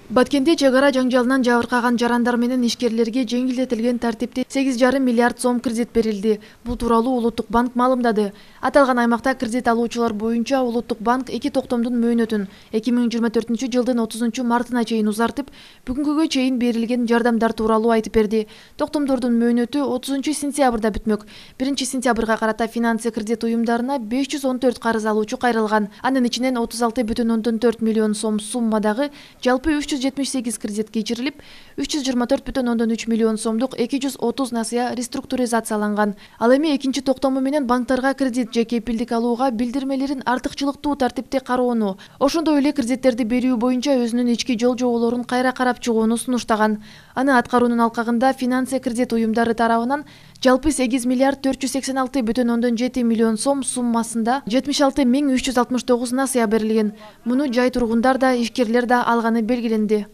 Баткенде чек ара жаңжалынан жабыркаган жарандар менен ишкерлерге жеңилдетилген тартипте 8,5 миллиард сом кредит берилди. Бул тууралуу Улуттук банк маалымдады. Аталган аймакта кредит алуучулар боюнча Улуттук банк 2 токтомдун мөөнөтүн 2024 жылдын 30 мартына чейин узартып, бүгүнгүгө чейин берилген жардамдар тууралуу айтып берди. Токтомдордун мөөнөтү 30 сентябрда бүтмөк. 1 сентябрга карата финансы кредит уюмдарына 514 карыз алуучу кайрылган. Анын ичинен 36,4 миллион сом суммадагы жалпы 378 кредит кечирилип, 324,3 миллион сомдук 230 насыя реструктуризацияланган. Ал эми экинчи токтому менен банктарга кредит же кепилдик алууга билдирмелерин артыкчылыктуу тартипте кароону, ошондой эле кредиттерди берүү боюнча өзүнүн ички жол жоболорун кайра карап чыгууну сунуштаган. Аны аткаруунун алкагында финансы кредит уюмдары тарабынан жалпы 8 миллиард 486,7 миллион сом суммасында 76 369 насыя берилген. Муну жай тургундар да, ишкерлер да алганы белгиленди.